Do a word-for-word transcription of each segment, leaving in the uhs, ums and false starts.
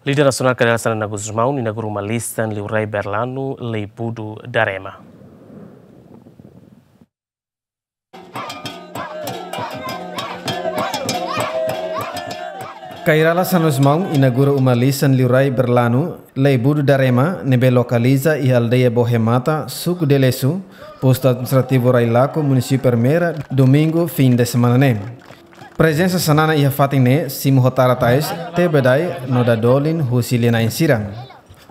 Líder nasionál Kay Rala Xanana Gusmão inaugura uma lisan liurai Berlanu Leibudu Darema. Kay Rala Xanana Gusmão inaugura uma lisan liurai Berlanu Leibudu Darema ne'ebé lokaliza iha aldeia Bohemata, suku Delesu, postu administrativu Railaco, munisípiu Ermera, domingu fim de semana ne'e. Prezensa Xanana iha fatin ne'e simu ho tara tais, tebedai no dadolin husi lia-na'in sira.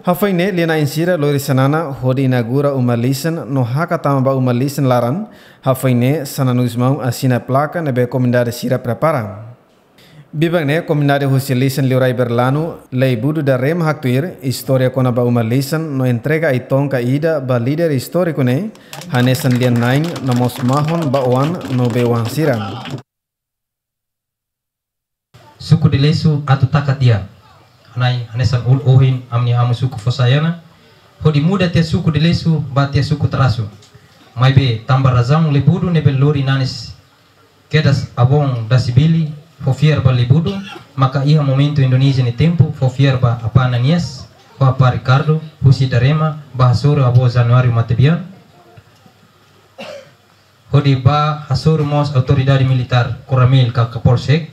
Hafoin ne'e lia-na'in sira lori Xanana hodi inaugura uma lisan no hakat tama ba uma lisan laran. Hafoin ne'e Xanana Gusmão asina plaka ne'ebé komunidade sira prepara. Biban ne'e komunidade husi lisan liurai Berlanu Leibudu Darema haktuir istória kona-ba uma lisan no entrega ai-tonka ida ba líder istóriku ne'e, hanesan lia-na'in no mós mahon ba oan no bei-oan sira. Suku Delesu atu taka tiha. Hanesan, hanesan ul ohin ami-nia amu suku fó sai ona, hodi muda tiha suku Delesu ba tiha suku Tarasu. Maibé tanba razaun Leibudu ne'ebé lori nanis kedas avó Dasibili fó fiar ba Leibudu, maka iha momentu Indonézia nia tempu fó fiar ba apá Ananias ho apá Ricardo husi Darema ba hasoru avó Januário Matebian, hodi ba hasoru mós autoridade militár, koronel ka kapolsek,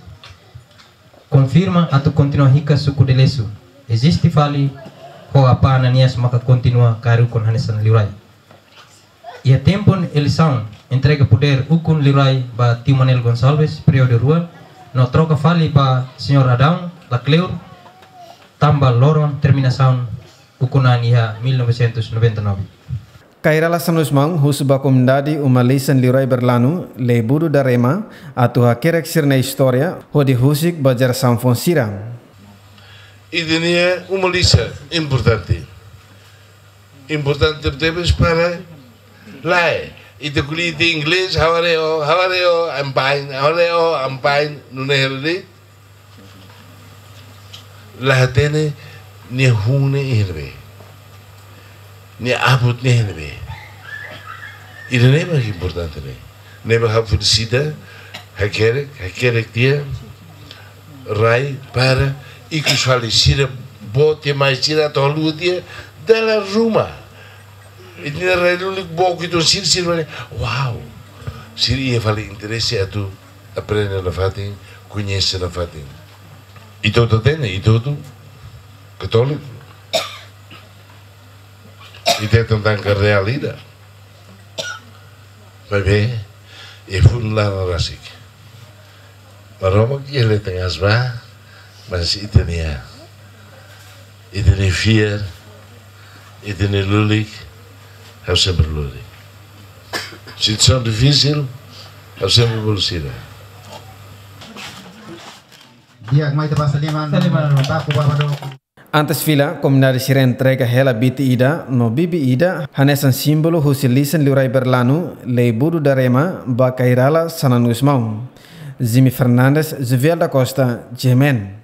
konfirma atu kontinua hikas suku Delesu eziste fali, ho apá Ananias maka kontinua kaer ukun hanesan liurai. Iha tempu eleisaun entrega podér ukun liurai ba tiu Manuel Gonçalves, períodu rua, no troka fali ba señór Adão, la kleur, tanba loron terminasaun ukun an iha mil novecentos noventa e nove. Kay Rala Xanana Gusmão husu ba komunidade uma lisan liurai Berlanu Leibudu Darema atu hakerek sira-nia istória hodi husik ba jerasaun foun sira. Ida-ne'e uma lisan importante. Importante tebes para lae. Ita ko'alia de'it inglés, how are you, how are you, I'm fine, how are you, I'm fine, nune'e hela de'it. La hatene nia hun ne'e iha ne'ebé. Nia abut ne'e iha ne'ebé. Ida-ne'e mak importante ne'e. Ne'ebé ha'u felisita, hakerek, hakerek tiha, rai, para, ikus fali sira, boot tiha mai sira, atu haluha tiha, dala ruma. Ita-nia rai lulik boot uitoan sira, sira fali, wow. Sira iha fali interese atu aprende nafatin, koñese nafatin. Ita hotu hatene, ita hotu katóliku. Ita hetan tanka reál ida. Maibé, iha funu laran rasik. Maromak iha leten aas ba, mas ita-nia, ita-nia fiar, ita-nia lulik, ha'u sempre lori. Situasaun difisil, ha'u sempre bolu sira. Di'ak, mai ita basa liman, Saliman. Baku baba do. Antes fila, komunidade sira entrega hela biti ida no bibi ida, hanesan símbolu husi lisan liurai Berlanu, Leibudu Darema, ba Kay Rala Xanana Gusmão. Jimmy Fernandes, Juviel da Costa, G M N.